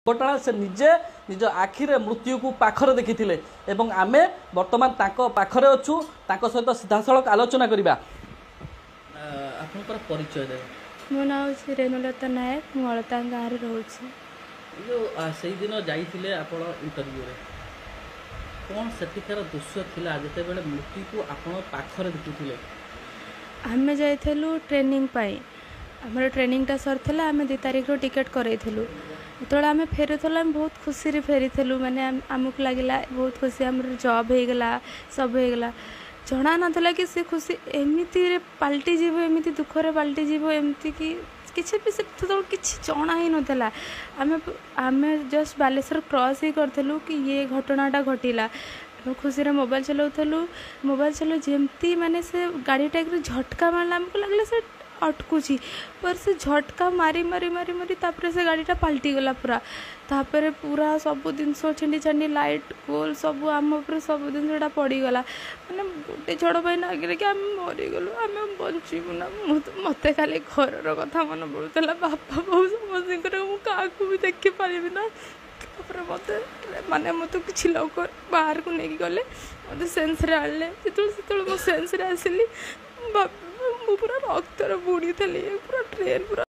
ଦୁର୍ଘଟଣା ସେ ନିଜେ ନିଜ ଆଖିରେ ମୃତ୍ୟୁକୁ ପାଖରେ ଦେଖିଥିଲେ ଏବଂ ଆମେ ବର୍ତ୍ତମାନ ତାଙ୍କ ପାଖରେ ଅଛୁ, ତାଙ୍କ ସହିତ ସିଧାସଳଖ ଆଲୋଚନା କରିବା। ଆପଣଙ୍କର ପରିଚୟ ଦେବେ? ମୋ ନାଁ ହେଉଛି ରେଣୁଲତା ନାୟକ, ମୁଁ ଅଳତା ଗାଁରେ ରହୁଛି। ଯେଉଁ ସେଇଦିନ ଯାଇଥିଲେ ଆପଣ ଇଣ୍ଟରଭ୍ୟୁରେ, କ'ଣ ସେଠିକାର ଦୃଶ୍ୟ ଥିଲା ଯେତେବେଳେ ମୃତ୍ୟୁକୁ ଆପଣ ପାଖରେ ଦେଖୁଥିଲେ? ଆମେ ଯାଇଥିଲୁ ଟ୍ରେନିଂ ପାଇଁ। ଆମର ଟ୍ରେନିଂଟା ସରିଥିଲା, ଆମେ 2 ତାରିଖରୁ ଟିକେଟ୍ କରେଇଥିଲୁ। ଯେତେବେଳେ ଆମେ ଫେରୁଥିଲୁ, ଆମେ ବହୁତ ଖୁସିରେ ଫେରିଥିଲୁ। ମାନେ ଆମକୁ ଲାଗିଲା ବହୁତ ଖୁସି, ଆମର ଜବ୍ ହେଇଗଲା, ସବୁ ହେଇଗଲା। ଜଣା ନଥିଲା କି ସେ ଖୁସି ଏମିତିରେ ପାଲଟିଯିବ, ଏମିତି ଦୁଃଖରେ ପାଲଟିଯିବ, ଏମିତି କି କିଛି ବି ସେତେବେଳେ କିଛି ଜଣା ହିଁ ନଥିଲା। ଆମେ ଜଷ୍ଟ ବାଲେଶ୍ୱର କ୍ରସ୍ ହିଁ କରିଥିଲୁ କି ଇଏ ଘଟଣାଟା ଘଟିଲା। ଆମେ ଖୁସିରେ ମୋବାଇଲ୍ ଚଲାଉଥିଲୁ। ମୋବାଇଲ୍ ଚଲାଉ ଯେମିତି ମାନେ ସେ ଗାଡ଼ିଟା ଝଟକା ମାରିଲା, ଆମକୁ ଲାଗିଲା ସେ ଅଟକୁଛି, पर ସେ ଝଟକା ମାରି ମାରି ମାରି ମାରି ତାପରେ ସେ ଗାଡ଼ିଟା ପାଲଟିଗଲା ପୁରା। ତାପରେ ପୁରା ସବୁ ଜିନିଷ ଛିଣ୍ଡି ଛାଣ୍ଡି, ଲାଇଟ୍ ଗୋଲ ସବୁ ଆମ ଉପରେ ସବୁ ଜିନିଷଟା ପଡ଼ିଗଲା। ମାନେ ଗୋଟେ ଝଡ଼ ପାଇଁ ଲାଗିଲା କି ଆମେ ମରିଗଲୁ, ଆମେ ବଞ୍ଚିବୁ ନା। ମୁଁ ତ ମୋତେ ଖାଲି ଘରର କଥା ମନେ ପଡ଼ୁଥିଲା, ବାପା ବୋଉ ସମସ୍ତଙ୍କର, ମୁଁ କାହାକୁ ବି ଦେଖିପାରିବି ନା। ତାପରେ ମୋତେ ମାନେ ମୋତେ କିଛି ଲୋକ ବାହାରକୁ ନେଇକି ଗଲେ, ମୋତେ ସେନ୍ସରେ ଆଣିଲେ। ଯେତେବେଳେ ମୁଁ ସେନ୍ସରେ ଆସିଲି, ମୁଁ ପୁରା ରକ୍ତରେ ବୁଡ଼ିଥିଲି, ପୁରା ଟ୍ରେନ୍ ପୁରା